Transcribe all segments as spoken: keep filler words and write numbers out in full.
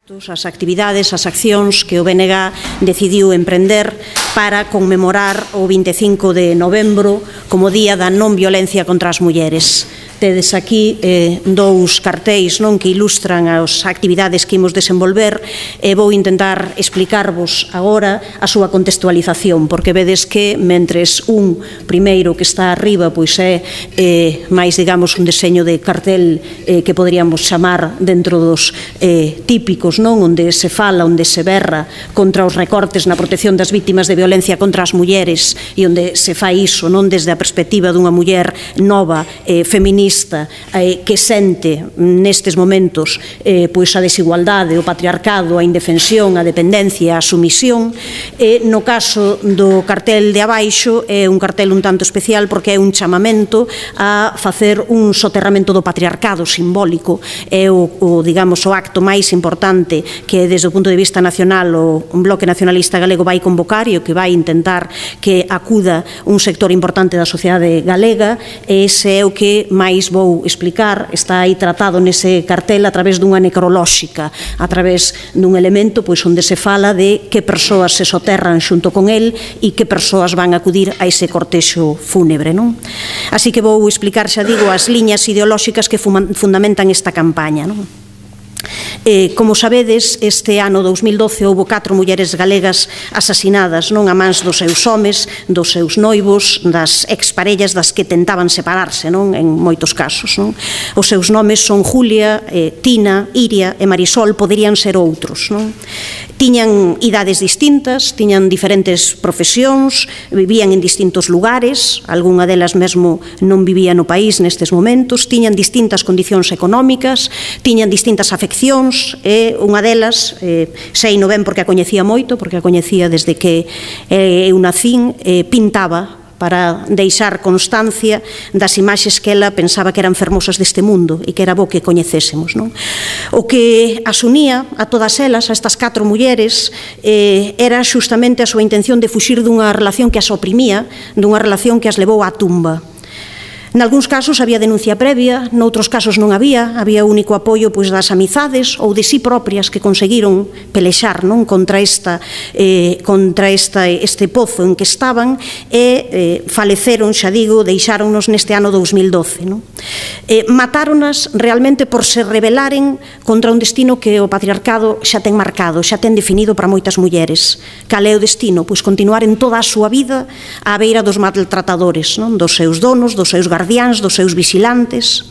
As actividades, as accións que o B N G decidiu emprender para conmemorar o vinte e cinco de novembro como Día da Non Violencia contra as Mulleres. Tedes aquí eh, dous cartéis non que ilustran as actividades que imos desenvolver e vou intentar explicarvos agora a súa contextualización, porque vedes que mentres un primeiro que está arriba pois é eh, máis, digamos, un deseño de cartel eh, que poderíamos chamar dentro dos eh, típicos, non, onde se fala, onde se berra contra os recortes na protección das vítimas de violencia contra as mulleres e onde se fai iso non desde a perspectiva dunha muller nova, eh, feminista, eh, que sente nestes momentos eh, pois a desigualdade, o patriarcado, a indefensión, a dependencia, a sumisión. E no caso do cartel de abaixo é un cartel un tanto especial porque é un chamamento a facer un soterramento do patriarcado simbólico. É o, o digamos, o acto máis importante que desde o punto de vista nacional o Bloque Nacionalista Galego vai convocar e o que vai intentar que acuda un sector importante da sociedade galega. Ese é o que máis vou explicar, está aí tratado nese cartel a través dunha necrolóxica, a través dun elemento pois onde se fala de que persoas se soterran xunto con el e que persoas van a acudir a ese cortexo fúnebre, non? Así que vou explicar, xa digo, as liñas ideolóxicas que fundamentan esta campaña, non? Eh, como sabedes, este ano dous mil doce houbo catro mulleres galegas asasinadas non a mans dos seus homes, dos seus noivos, das exparellas das que tentaban separarse, non, en moitos casos, non? Os seus nomes son Julia, eh, Tina, Iria e Marisol, poderían ser outros, non? Tiñan idades distintas, tiñan diferentes profesións, vivían en distintos lugares, algunha delas mesmo non vivía no país nestes momentos, tiñan distintas condicións económicas, tiñan distintas afeccións, e unha delas, eh, sei no ben porque a coñecía moito, porque a coñecía desde que eh, eu nacín, eh, pintaba para deixar constancia das imaxes que ela pensaba que eran fermosas deste mundo e que era bo que coñecésemos, non? O que as unía a todas elas, a estas catro mulleres, eh, era xustamente a súa intención de fuxir dunha relación que as oprimía, dunha relación que as levou á tumba. Nalgúns casos había denuncia previa, noutros casos non había, había único apoio pois das amizades ou de si propias que conseguiron pelexar non contra esta eh, contra esta este pozo en que estaban e eh, faleceron, xa digo, deixáronnos neste ano dous mil doce, non? Eh, matáronas realmente por se rebelaren contra un destino que o patriarcado xa ten marcado, xa ten definido para moitas mulleres. Cal é o destino? Pois continuar en toda a súa vida á beira dos maltratadores, non? Dos seus donos, dos seus guardiáns, dos seus vigilantes.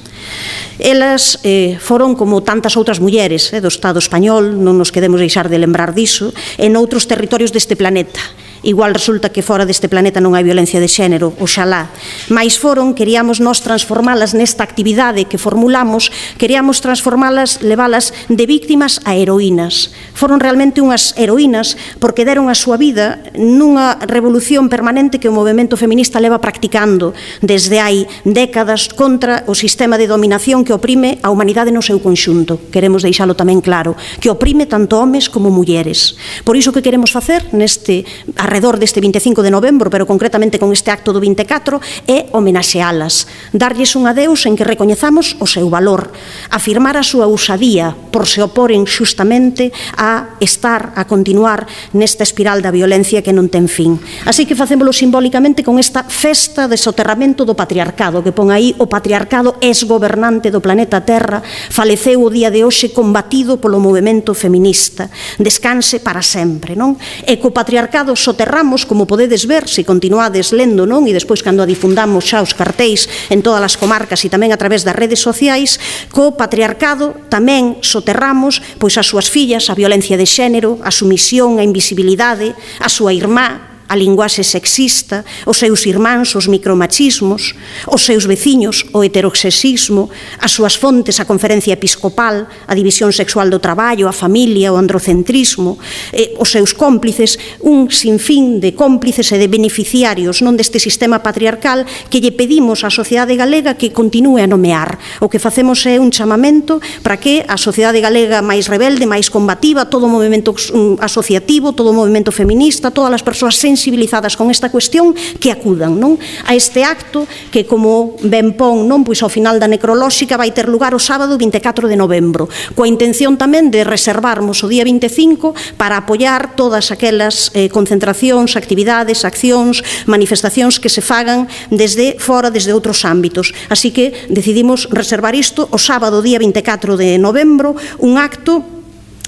Elas eh, foron como tantas outras mulleres eh, do Estado español, non nos quedemos deixar de lembrar diso, en outros territorios deste planeta. Igual resulta que fora deste planeta non hai violencia de xénero, oxalá. Mais foron, queríamos nós transformalas nesta actividade que formulamos, queríamos transformalas, levalas de víctimas a heroínas. Foron realmente unhas heroínas porque deron a súa vida nunha revolución permanente que o movemento feminista leva practicando desde hai décadas contra o sistema de dominación que oprime a humanidade no seu conxunto. Queremos deixalo tamén claro, que oprime tanto homes como mulleres. Por iso que queremos facer neste arredor deste vinte e cinco de novembro, pero concretamente con este acto do vinte e catro, é homenaxealas, darlles un adeus en que recoñezamos o seu valor, afirmar a súa usadía por se oporen xustamente a estar, a continuar nesta espiral da violencia que non ten fin. Así que facémolo simbólicamente con esta festa de soterramento do patriarcado, que pon aí o patriarcado exgobernante do planeta Terra, faleceu o día de hoxe combatido polo movemento feminista. Descanse para sempre, non? E co patriarcado soterramos, como podedes ver, se continuades lendo, non? E despois cando a difundamos xa os cartéis en todas as comarcas e tamén a través das redes sociais, co patriarcado tamén soterramos pois as súas fillas, a violencia de xénero, a sumisión, a invisibilidade, a súa irmá, a linguaxe sexista, os seus irmáns, os micromachismos, os seus veciños, o heteroxexismo, as súas fontes, a conferencia episcopal, a división sexual do traballo, a familia, o androcentrismo, eh, os seus cómplices, un sinfín de cómplices e de beneficiarios non deste sistema patriarcal que lle pedimos á sociedade galega que continue a nomear. O que facemos é un chamamento para que a sociedade galega máis rebelde, máis combativa, todo o movimento asociativo, todo o movimento feminista, todas as persoas sensibles sensibilizadas con esta cuestión, que acudan, non, a este acto que, como ben pon, non, pois ao final da necrolóxica vai ter lugar o sábado vinte e catro de novembro, coa intención tamén de reservarmos o día vinte e cinco para apoiar todas aquelas eh, concentracións, actividades, accións, manifestacións que se fagan desde fora, desde outros ámbitos. Así que decidimos reservar isto o sábado día vinte e catro de novembro, un acto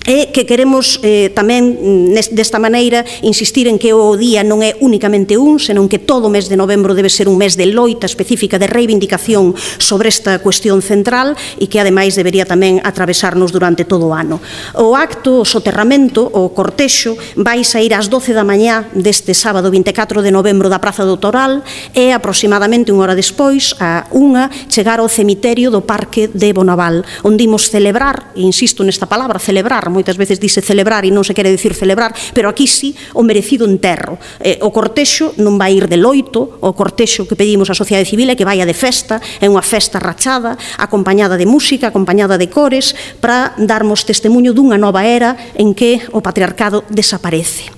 e que queremos eh, tamén desta maneira insistir en que o día non é únicamente un, senón que todo o mes de novembro debe ser un mes de loita específica, de reivindicación sobre esta cuestión central e que ademais debería tamén atravesarnos durante todo o ano. O acto, o soterramento, o cortexo vai sair ás doce da mañá deste sábado vinte e catro de novembro da Praza do Toral e aproximadamente unha hora despois, a unha, chegar ao cemiterio do Parque de Bonaval, onde imos celebrar, e insisto nesta palabra, celebrar, moitas veces dice celebrar e non se quere dicir celebrar, pero aquí sí, o merecido enterro. Eh, o cortexo non vai ir de loito, o cortexo que pedimos á sociedade civil é que vaya de festa, é unha festa rachada, acompañada de música, acompañada de cores, para darmos testemunho dunha nova era en que o patriarcado desaparece.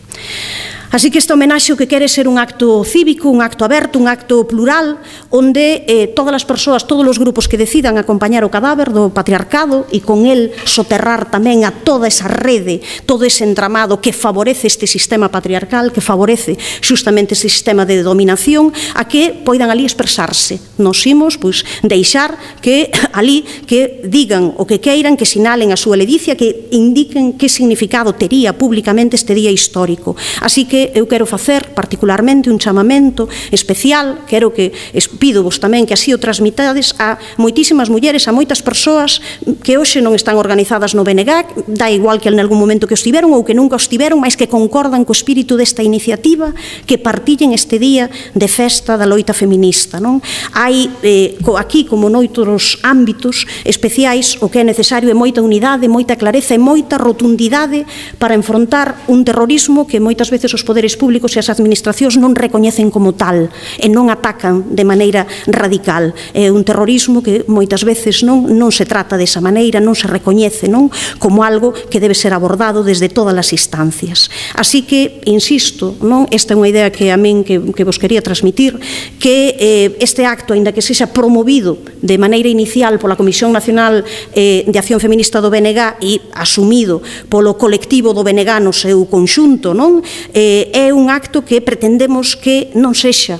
Así que este homenaxe o que quere ser un acto cívico, un acto aberto, un acto plural, onde eh, todas as persoas, todos os grupos que decidan acompañar o cadáver do patriarcado e con el soterrar tamén a toda esa rede, todo ese entramado que favorece este sistema patriarcal, que favorece justamente este sistema de dominación, a que poidan ali expresarse. Nos imos, pois, deixar que ali que digan o que queiran, que sinalen a súa ledicia, que indiquen que significado tería públicamente este día histórico. Así que eu quero facer particularmente un chamamento especial, quero que pido vos tamén que así o transmitades a moitísimas mulleres, a moitas persoas que hoxe non están organizadas no B N G, dá igual que en algún momento que os tiveron ou que nunca os tiveron, mas que concordan co espírito desta iniciativa, que partillen este día de festa da loita feminista. Non? Hai eh, aquí, como noutros ámbitos especiais, o que é necesario é moita unidade, moita clareza e moita rotundidade para enfrontar un terrorismo que moitas veces os poderes públicos e as administracións non recoñecen como tal e non atacan de maneira radical. É un terrorismo que moitas veces non, non se trata desa maneira, non se recoñece non como algo que debe ser abordado desde todas as instancias. Así que, insisto, non, esta é unha idea que a min que, que vos quería transmitir, que eh, este acto, aínda que sexa promovido de maneira inicial pola Comisión Nacional eh, de Acción Feminista do B N G e asumido polo colectivo do B N G no seu conxunto, non? Eh, é un acto que pretendemos que non sexa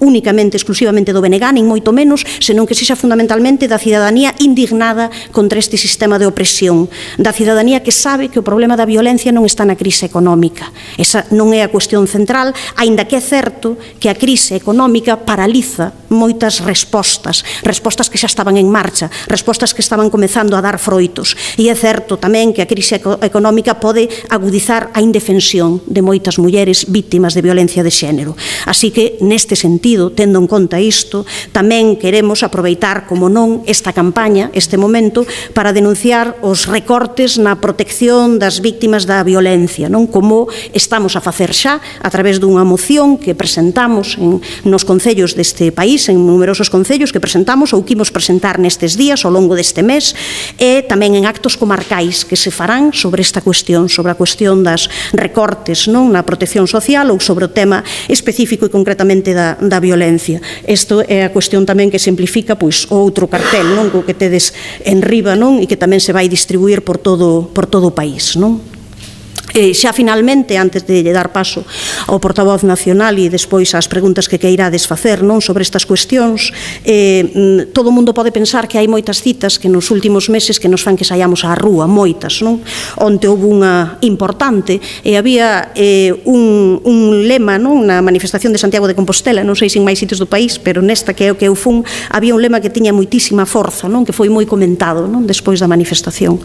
únicamente, exclusivamente do B N G, nin moito menos, senón que sexa fundamentalmente da cidadanía indignada contra este sistema de opresión, da cidadanía que sabe que o problema da violencia non está na crise económica. Esa non é a cuestión central, aínda que é certo que a crise económica paraliza moitas respostas, respostas que xa estaban en marcha, respostas que estaban comezando a dar froitos. E é certo tamén que a crise económica pode agudizar a indefensión de moitas mulleres vítimas de violencia de xénero. Así que, neste sentido, tendo en conta isto, tamén queremos aproveitar, como non, esta campaña, este momento, para denunciar os recortes na protección das vítimas da violencia, non? Como estamos a facer xa a través dunha moción que presentamos en, nos concellos deste país, en numerosos concellos que presentamos ou que imos presentar nestes días ao longo deste mes, e tamén en actos comarcais que se farán sobre esta cuestión, sobre a cuestión das recortes non na protección social ou sobre o tema específico e concretamente da, da violencia. Isto é a cuestión tamén que simplifica pois, o outro cartel non co que tedes en riba non e que tamén se vai distribuir por todo, por todo o país. Non? E xa finalmente, antes de dar paso ao portavoz nacional e despois ás preguntas que queirades facer non sobre estas cuestións, eh, todo o mundo pode pensar que hai moitas citas que nos últimos meses que nos fan que saiamos á rúa, moitas, non? Onte houve unha importante e había eh, un, un lema non? Na manifestación de Santiago de Compostela, non sei se en máis sitios do país, pero nesta que é o que eu fun, había un lema que tiña moitísima forza, non? Que foi moi comentado non? Despois da manifestación.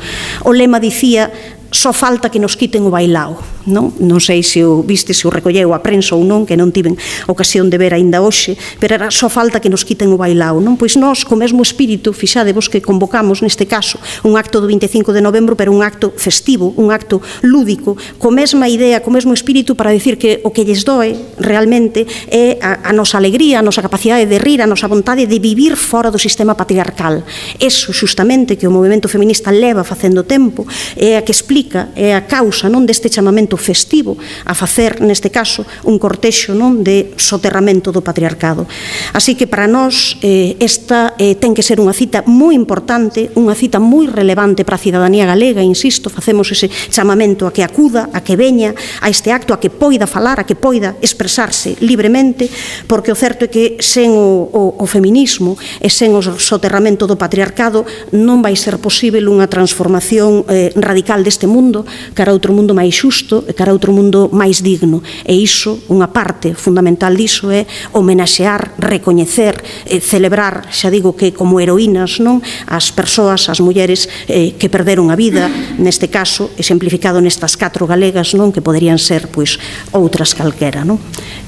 O lema dicía: só falta que nos quiten o bailao. Non, non sei se o viste, se o recolleu a prensa ou non, que non tiven ocasión de ver aínda hoxe, pero era só falta que nos quiten o bailao. Non? Pois nós, co mesmo espírito, fixadevos que convocamos neste caso un acto do vinte e cinco de novembro, pero un acto festivo, un acto lúdico, co mesma idea, co mesmo espírito para decir que o que lles doe realmente é a, a nosa alegría, a nosa capacidade de rir, a nosa vontade de vivir fora do sistema patriarcal. Eso, xustamente, que o movimento feminista leva facendo tempo, é a que explica xustifica, é a causa non deste chamamento festivo a facer, neste caso, un cortexo non de soterramento do patriarcado. Así que para nós eh, esta eh, ten que ser unha cita moi importante, unha cita moi relevante para a cidadanía galega, insisto, facemos ese chamamento a que acuda, a que veña a este acto, a que poida falar, a que poida expresarse libremente, porque o certo é que sen o, o, o feminismo e sen o soterramento do patriarcado non vai ser posible unha transformación eh, radical deste mundo cara a outro mundo máis xusto e cara a outro mundo máis digno. E iso, unha parte fundamental diso é homenaxear, recoñecer, eh, celebrar, xa digo que como heroínas, non, as persoas, as mulleres eh, que perderon a vida, neste caso, exemplificado nestas catro galegas, non, que poderían ser, pois, outras calquera, non?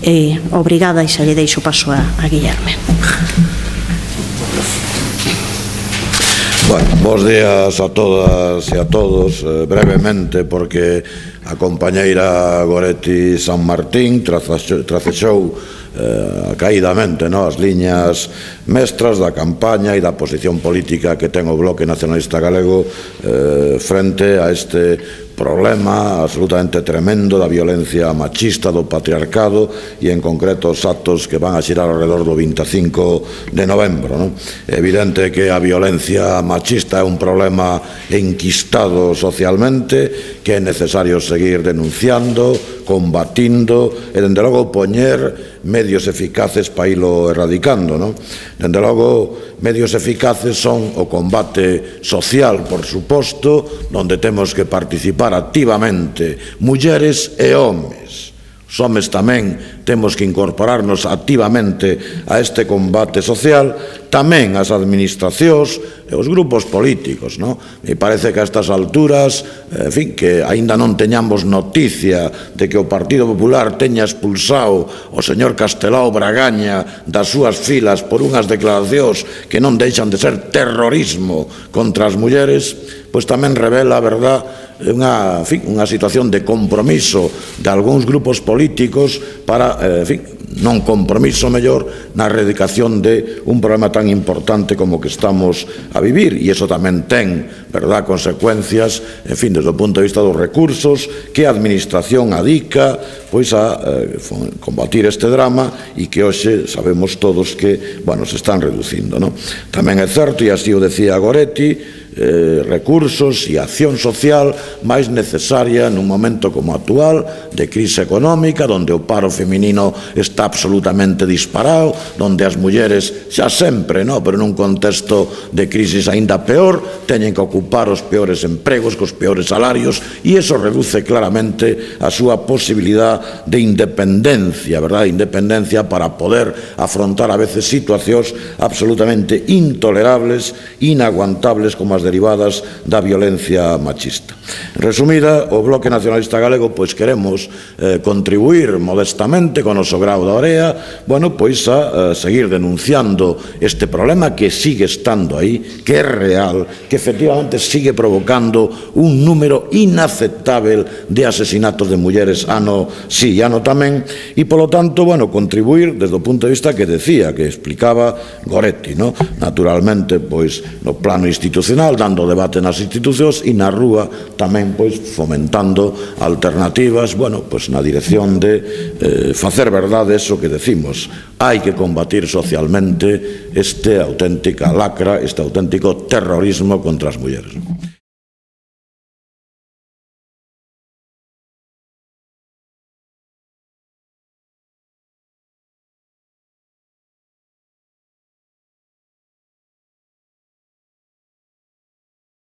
Eh, obrigada e xa lle deixo paso a, a Guillerme. Bueno, bos días a todas e a todos, eh, brevemente, porque a compañeira Goretti San Martín tracexou eh, caídamente no, as liñas mestras da campaña e da posición política que ten o Bloque Nacionalista Galego eh, frente a este problema absolutamente tremendo da violencia machista, do patriarcado e en concreto os actos que van a xirar alrededor do vinte e cinco de novembro, non? É evidente que a violencia machista é un problema enquistado socialmente que é necesario seguir denunciando, combatindo e, dende logo, poñer medios eficaces para ilo erradicando, non? Dende logo, medios eficaces son o combate social, por suposto, onde temos que participar activamente mulleres e homes. Os homes tamén temos que incorporarnos activamente a este combate social, tamén as administracións e os grupos políticos, non? Me parece que a estas alturas, en fin, que aínda non teñamos noticia de que o Partido Popular teña expulsado o señor Castelao Bragaña das súas filas por unhas declaracións que non deixan de ser terrorismo contra as mulleres, pois tamén revela, a verdad, unha, en fin, unha situación de compromiso de algúns grupos políticos para, eh, en fin, non compromiso mellor na erradicación de un problema tan importante como que estamos a vivir, e iso tamén ten, verdad, consecuencias, en fin, desde o punto de vista dos recursos que a administración adica pois a eh, combatir este drama e que hoxe sabemos todos que, bueno, se están reducindo, non? Tamén é certo, e así o decía Goretti, Eh, recursos e acción social máis necesaria nun momento como actual de crise económica, onde o paro feminino está absolutamente disparado, onde as mulleres xa sempre, no, pero nun contexto de crisis aínda peor, teñen que ocupar os peores empregos, cos peores salarios, e iso reduce claramente a súa posibilidad de independencia, verdad? Independencia para poder afrontar a veces situacións absolutamente intolerables, inaguantables como as derivadas da violencia machista. Resumida, o Bloque Nacionalista Galego pois queremos eh, contribuir modestamente con o noso grao da orea, bueno, pois a eh, seguir denunciando este problema que sigue estando aí, que é real, que efectivamente sigue provocando un número inaceptável de asesinatos de mulleres ano sí e ano tamén, e polo tanto, bueno, contribuir desde o punto de vista que decía, que explicaba Goretti, no? Naturalmente, pois, no plano institucional, dando debate nas institucións, e na rúa tamén, pois, fomentando alternativas, bueno, pois, na dirección de eh, facer verdade eso que decimos. Hai que combatir socialmente este auténtica lacra, este auténtico terrorismo contra as mulleres.